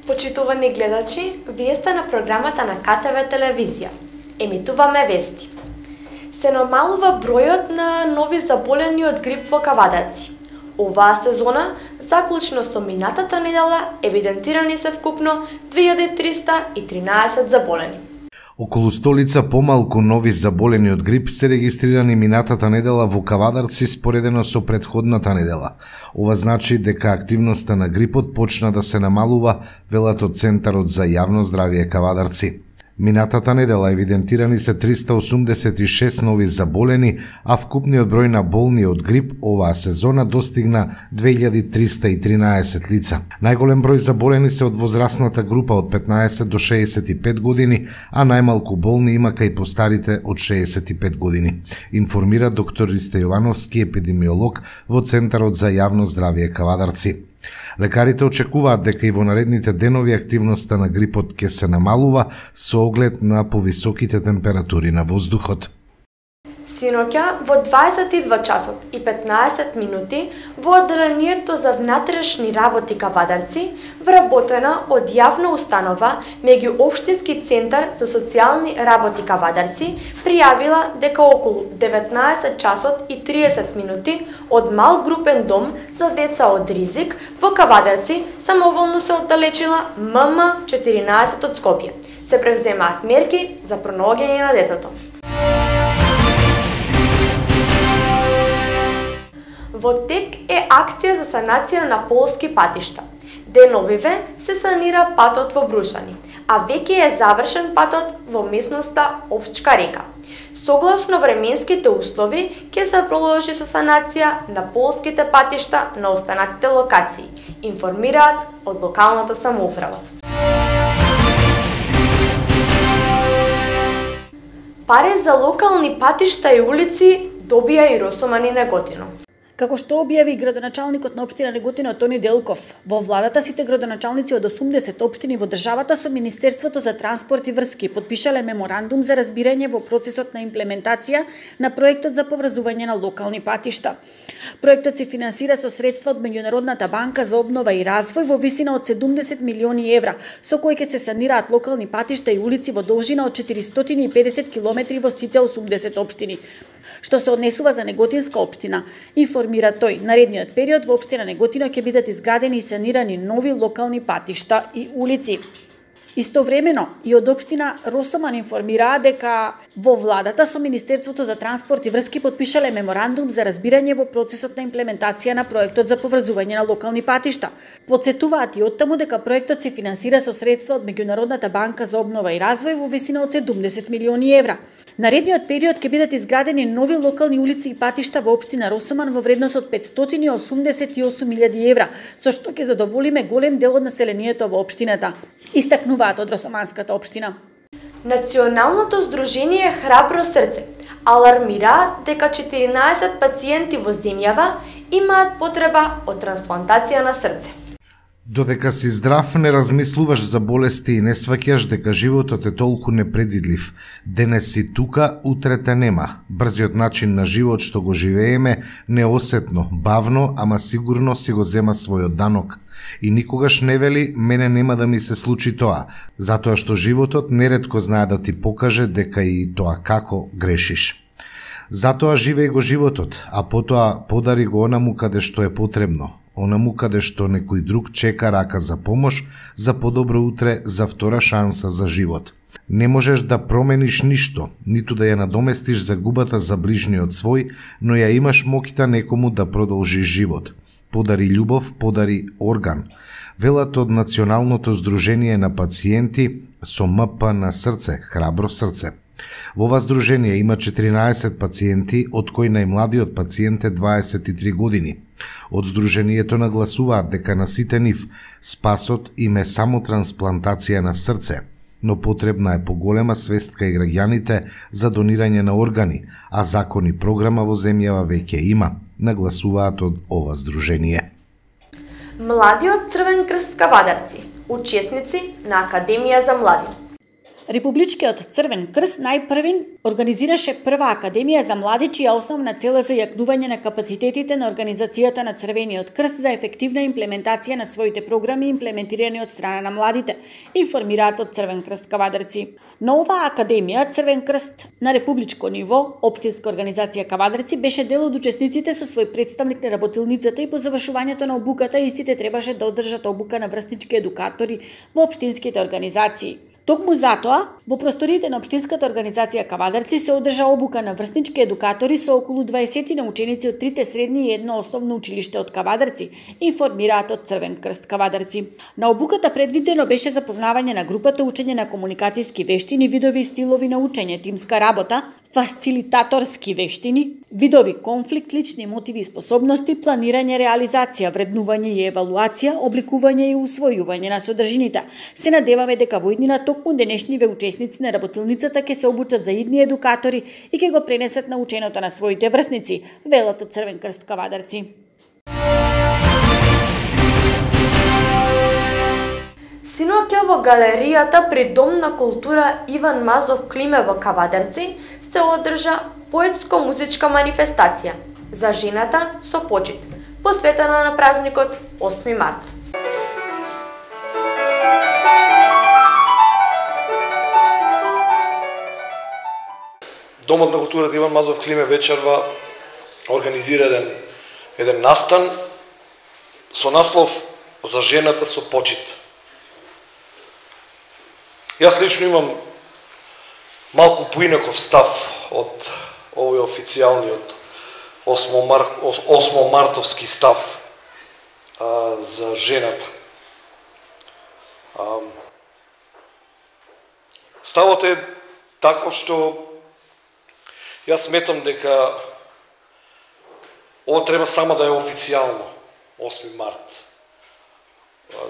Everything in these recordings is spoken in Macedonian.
Почитувани гледачи, вие сте на програмата на КТВ телевизија. Емитуваме вести. Се намалува бројот на нови заболени од грип во Кавадарци. Оваа сезона, заклучно со минатата недела, евидентирани се вкупно 2313 заболени. Околу столица помалку нови заболени од грип се регистрирани минатата недела во Кавадарци споредено со претходната недела. Ова значи дека активноста на грипот почна да се намалува, велат од Центарот за јавно здравје Кавадарци. Минатата недела евидентирани се 386 нови заболени, а вкупниот број на болни од грип оваа сезона достигна 2313 лица. Најголем број заболени се од возрастната група од 15 до 65 години, а најмалку болни има кај постарите од 65 години, информира доктор Ристе Јовановски, епидемиолог во Центарот за јавно здравје Кавадарци. Лекарите очекуваат дека и во наредните денови активноста на грипот ќе се намалува со оглед на повисоките температури на воздухот. Синоќа во 22 часот и 15 минути во одделението за внатрешни работи Кавадарци вработена од јавна установа меѓуопштински центар за социјални работи Кавадарци пријавила дека околу 19 часот и 30 минути од мал групен дом за деца од ризик во Кавадарци самоволно се оддалечила ММ14 од Скопје. Се превземаат мерки за пронаоѓање на детето. Во тек е акција за санација на полски патишта. Деновиве се санира патот во Брушани, а веќе е завршен патот во местноста Овчка река. Согласно временските услови, ќе се продолжи со санација на полските патишта на останатите локации, информираат од локалната самоуправа. Пари за локални патишта и улици добија и Росоман и Неготино. Како што објави градоначалникот на општина Неготино Тони Делков, во владата сите градоначалници од 80 општини во државата со Министерството за транспорт и врски подпишале меморандум за разбирање во процесот на имплементација на проектот за поврзување на локални патишта. Проектот се финансира со средства од Меѓународната банка за обнова и развој во висина од 70 милиони евра, со кои ќе се санираат локални патишта и улици во должина од 450 километри во сите 80 општини. Што се однесува за Неготинска општина, информира тој, наредниот период во општина Неготино ќе бидат изградени и санирани нови локални патишта и улици. Истовремено и од општина Росоман информираа дека во владата со Министерството за транспорт и врски подпишале меморандум за разбирање во процесот на имплементација на проектот за поврзување на локални патишта. Подсетуваат и оттаму дека проектот се финансира со средства од Меѓународната банка за обнова и развој во висина од 70 милиони евра. Наредниот период ќе бидат изградени нови локални улици и патишта во општина Росоман во вредност од 588.000 евра, со што ќе задоволиме голем дел од населението во општината, истакнуваат од Росоманската општина. Националното здружение Храбро срце алармира дека 14 пациенти во земјава имаат потреба од трансплантација на срце. Додека си здрав, не размислуваш за болести и не сваќаш дека животот е толку непредвидлив. Денес си тука, утре те нема. Брзиот начин на живот што го живееме, неосетно, бавно, ама сигурно си го зема својот данок. И никогаш не вели, мене нема да ми се случи тоа, затоа што животот неретко знае да ти покаже дека и тоа како грешиш. Затоа живеј го животот, а потоа подари го онаму каде што е потребно. Онаму каде што некој друг чека рака за помош, за подобро утре, за втора шанса за живот. Не можеш да промениш ништо, ниту да ја надоместиш загубата за ближниот свој, но ја имаш моќта некому да продолжиш живот. Подари љубов, подари орган. Велат од Националното здружение на пациенти со МП на срце, Храбро срце. Во ова здружение има 14 пациенти, од кои најмладиот пациент е 23 години. Од здружението нагласуваат дека на сите нив спасот им е само трансплантација на срце, но потребна е поголема свест кај граѓаните за донирање на органи, а закон и програма во земјава веќе има, нагласуваат од ова здружение. Младиот Црвен крст Кавадарци, учесници на Академија за млади. Републичкиот Црвен крст најпрвин организираше прва академија за млади, чија основна цел е за јакнување на капацитетите на организацијата на Црвениот крст за ефективна имплементација на своите програми имплементирани од страна на младите, информираат од Црвен крст Кавадарци. На оваа академија Црвен крст на републичко ниво, општинска организација Кавадарци, беше дел од учесниците со свој представник на работилницата и по завршувањето на обуката истите требаше да одржат обука на врснички едукатори во општинските организации. Токму затоа, во просториите на општинската организација Кавадарци се одржа обука на врснички едукатори со околу 20 на ученици од 3 средни и едно основно училиште од Кавадарци, информираат од Црвен крст Кавадарци. На обуката предвидено беше запознавање на групата, учење на комуникацијски вештини, видови и стилови на учење, тимска работа, фасилитаторски вештини, видови конфликт, лични мотиви и способности, планирање, реализација, вреднување и евалуација, обликување и усвојување на содржините. Се надеваме дека во иднина токму денешниве учесници на работилницата ќе се обучат за идни едукатори и ќе го пренесат наученото на своите врсници, велат од Црвен крст Кавадарци. Синоќа во галеријата при Дом на култура Иван Мазов Климе во Кавадарци се одржа поетско-музичка манифестација за жената со почит, посветена на празникот 8 март. Домот на културата Иван Мазов Климе вечерва организира еден настан со наслов За жената со почит. Јас лично имам малку поинаков став од овој официјалниот 8 мартовски став за жената. Ставот е таков што јас сметам дека ова треба само да е официјално 8 март.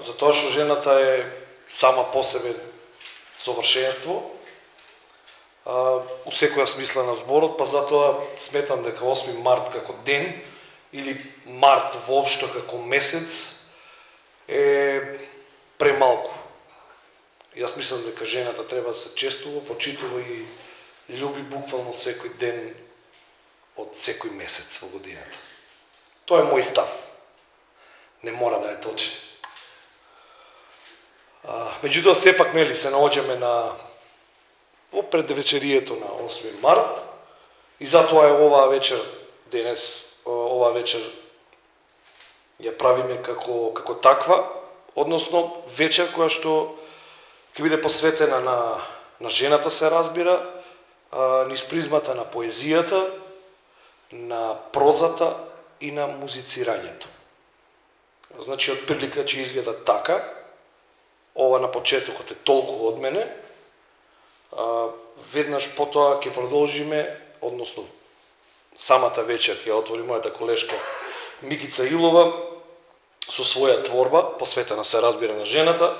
Затоа што жената е сама по себе совршенство, у секоја смисла на зборот, па затоа сметам дека 8 март како ден или март воопшто како месец е премалку. Јас мислам дека жената треба да се честува, почитува и љуби буквално секој ден од секој месец во годината. Тоа е мој став. Не мора да е точен. Меѓутоа, сепак нели се наоѓаме во предвечерието на 8 март и затоа е оваа вечер денес, оваа вечер ја правиме како таква, односно вечер која што ќе биде посветена на жената, се разбира, низ призмата на поезијата, на прозата и на музицирањето. Значи, од прилика че изгледа така. Ова на почетокот е толку од мене. Веднаш потоа ќе продолжиме, односно самата вечер ќе отвори мојата колешка Микица Илова со своја творба, посветена се разбира на жената.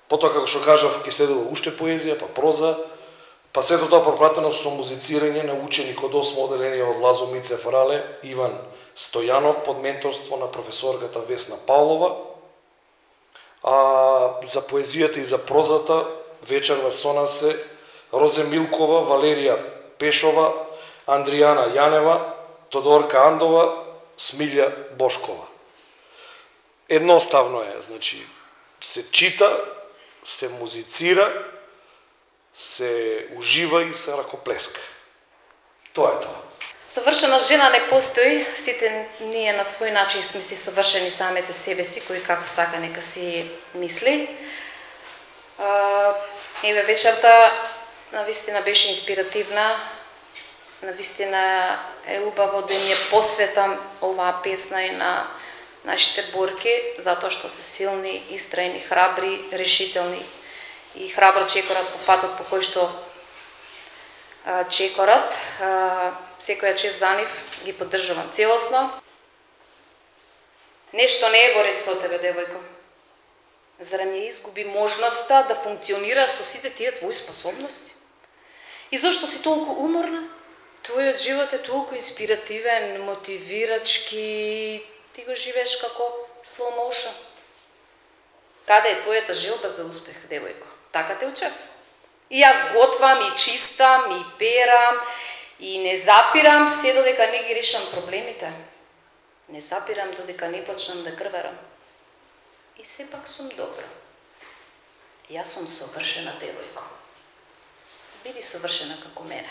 Потоа, како што кажав, ќе следува уште поезија, па проза, па сето тоа пропратено со музицирање на ученик од 8 оделение од Лазо Мицев Рале, Иван Стојанов, под менторство на професорката Весна Павлова. За поезијата и за прозата вечерва со нас се Розе Милкова, Валерија Пешова, Андријана Јанева, Тодорка Андова, Смилја Бошкова. Едноставно е, значи, се чита, се музицира, се ужива и се ракоплеска. Тоа е тоа. Совршена жена не постои, сите ние на свој начин сме си совршени самите себе си, кој како сака нека си мисли. Еве вечерта навистина беше инспиративна, навистина е убаво да ни посветам оваа песна и на нашите борки, затоа што се силни, истрајни, храбри, решителни и храбро чекорат по патот по кој што чекорат. Секоја чест за нив, ги поддржувам целосно. Нешто не е во ред со тебе, девојко. Зарем ја изгуби можноста да функционираш со сите тие твои способности? И зошто си толку уморна? Твојот живот е толку инспиративен, мотивирачки, ти го живееш како slow motion. Каде е твојата желба за успех, девојко? Така те учев. И јас готвам, и чистам, и перам, и не запирам се додека не ги решам проблемите. Не запирам додека не почнам да крварам. И сепак сум добра. Јас сум совршена, девојко. Биди совршена како мене.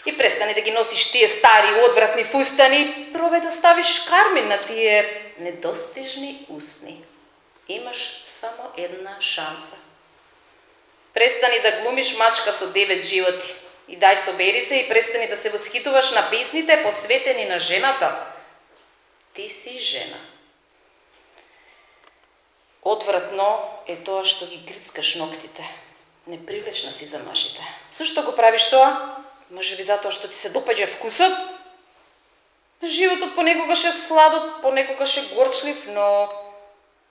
И престани да ги носиш тие стари, одвратни фустани, пробај да ставиш кармин на тие недостижни усни. Имаш само една шанса. Престани да глумиш мачка со 9 животи. И дај собери се и престани да се восхитуваш на песните посветени на жената. Ти си жена. Одвратно е тоа што ги грицкаш ноктите. Непривлечна си за мажите. Зошто го правиш тоа? Можеби затоа што ти се допаѓа вкусот? Животот понекогаш е сладот, понекогаш е горчлив, но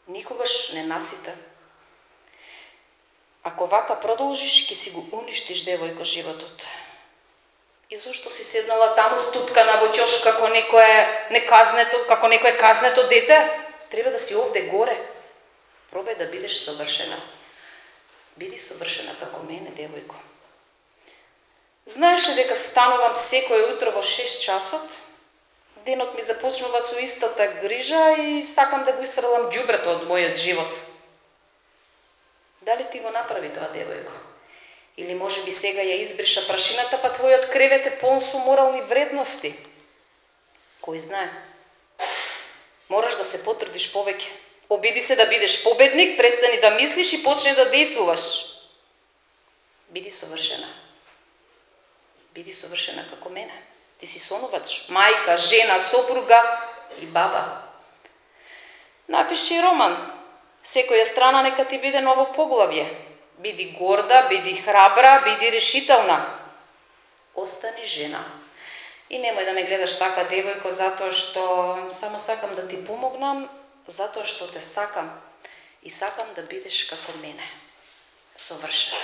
никогаш не насита. Ако вака продолжиш, ќе си го уништиш, девојко, животот. И зошто си седнала таму ступкана во ќош како некое казнето дете? Треба да си овде горе. Пробај да бидеш совршена. Биди совршена како мене, девојко. Знаеш ли дека станувам секој утро во 6 часот? Денот ми започнува со истата грижа и сакам да го исфрлам ѓубрето од мојот живот. Дали ти го направи тоа, девојко? Или може би сега ја избриша прашината, па твојот кревет е полн со морални вредности? Кој знае? Мораш да се потрудиш повеќе. Обиди се да бидеш победник, престани да мислиш и почни да действуваш. Биди совршена. Биди совршена како мене. Ти си сонувач, мајка, жена, сопруга и баба. Напиши роман. Секоја страна нека ти биде ново поглавје. Биди горда, биди храбра, биди решителна. Остани жена. И немој да ме гледаш така, девојко, затоа што само сакам да ти помогнам, затоа што те сакам и сакам да бидеш како мене. Совршена.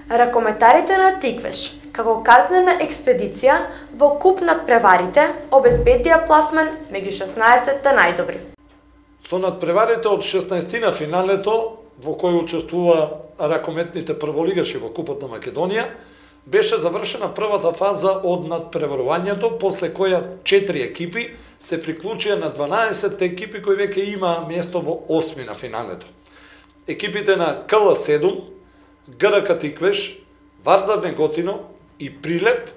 Ракометарите на Тиквеш, како казнена експедиција во куп над преварите, обезбедија пласман меѓу 16-та најдобри. Со надпреварите од 16-тина финалето, во кој учествува ракометните прволигаши во Купот на Македонија, беше завршена првата фаза од надпреварувањето, после која 4 екипи се приклучија на 12 екипи кои веќе има место во 8 на финалето. Екипите на КЛ7, ГРК Тиквеш, Вардар Неготино и Прилеп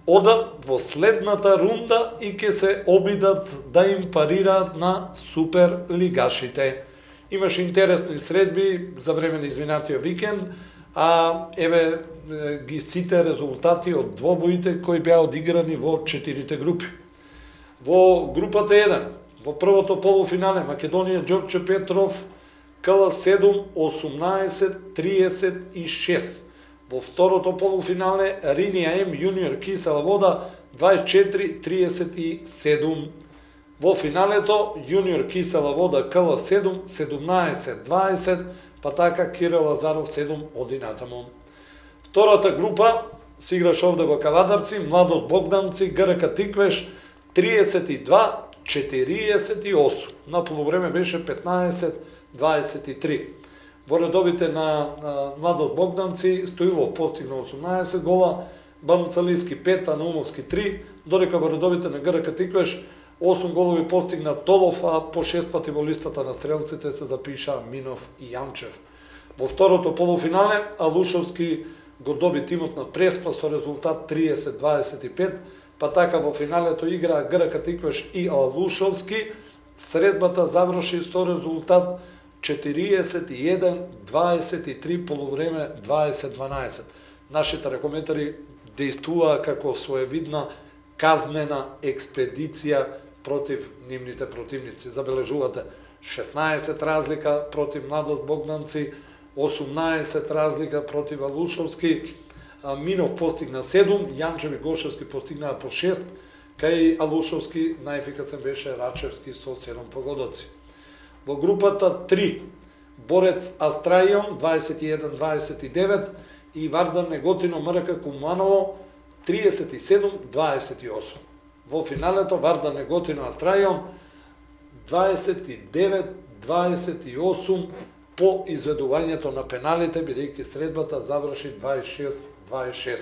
одат во следната рунда и ќе се обидат да им парираат на суперлигашите. Имаше интересни средби за време на изминатиот викенд, а еве ги сите резултати од двобоите кои беа одиграни во 4 групи. Во групата 1, во првото полуфинале Македонија Ѓорче Петров КЛ7 18-36. Во второто полуфинале Ринија М Јуниор Кисела Вода 24-37. Во финалето Јуниор Кисела Вода КЛ7 17-20, па така Кирил Лазаров 7 оди натаму. Втората група се играш овде во Кавадарци, Младост Богданци, ГРК Тиквеш 32-48. На полувреме беше 15-23. Во редовите на Младост Богданци Стоилов постигна 18 гола, Банцалиски 5, а Наумовски 3, додека во редовите на ГРК Тиквеш 8 голови постигна Толов, а по 6 пати во листата на стрелците се запиша Минов и Јанчев. Во второто полуфинале Алушовски го доби тимот на Преспа со резултат 30-25, па така во финалето игра ГРК Тиквеш и Алушовски. Средбата заврши со резултат 41-23, полувреме 20-12. Нашите ракометари действуваа како своевидна казнена експедиција против нивните противници. Забележувате 16 разлика против Младост Богданци, 18 разлика против Алушовски, Минов постигна 7, Јанчев и Гошевски постигнаа по 6, кај Алушовски најефикасен беше Рачевски со 7 погодоци. Во групата 3 Борец Астрајон 21-29 и Вардар Неготино МРК Куманово 37-28. Во финалето Вардар Неготино Астрајон 29-28 по изведувањето на пеналите, бидејќи средбата заврши 26-26.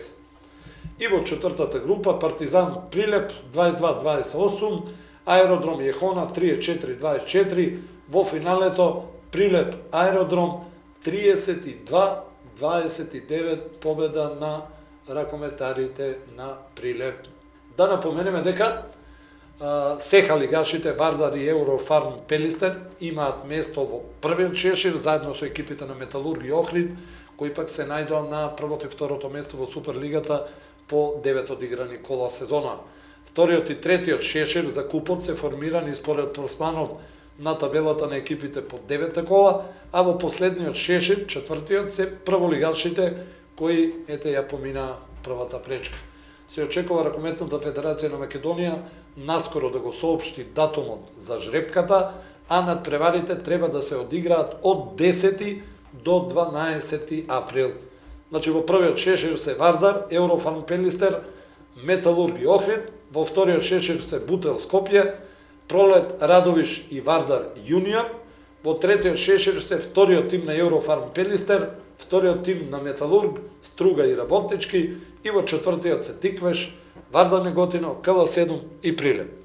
И во четвртата група Партизан Прилеп 22-28, Аеродром Јехона 34-24, во финалето Прилеп Аеродром 32-29 победа на ракометарите на Прилеп. Да напоменеме дека сеха лигашите Вардар и Еврофарм Пелистер имаат место во првиот шешир заедно со екипите на Металург и Охрид, кои пак се најдоа на првото и второто место во Суперлигата по 9 одиграни кола сезона. Вториот и третиот шешир за купот се формирани според пласманот на табелата на екипите по 9 кола, а во последниот шешир, четвртиот, се прволигашите кои ја помина првата пречка. Се очекува Ракометната федерација на Македонија наскоро да го соопшти датумот за жребката, а надпреварите треба да се одиграат од 10 до 12 април. Значи во првиот шешир се Вардар, Еврофарм Пелистер, Металург и Охрид, во вториот шешир се Бутел Скопје, Пролет Радовиш и Вардар Јуниор, во третиот шешир се вториот тим на Еврофарм Пелистер, вториот тим на Металург, Струга и Работнички и во четвртиот се Тиквеш, Вардар Неготино, КЛ7 и Прилеп.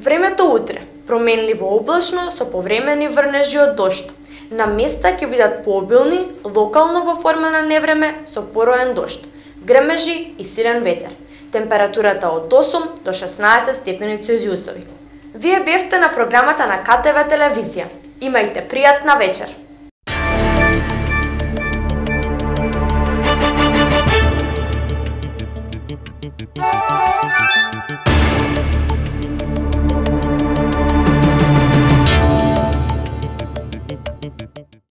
Времето утре, променливо облачно со повремени врнежи од дожд. На места ќе бидат пообилни, локално во форма на невреме со пороен дожд, грмежи и силен ветер. Температурата од 8 до 16 степени Целзиусови. Вие бевте на програмата на КТВ телевизија. Имајте пријатна вечер.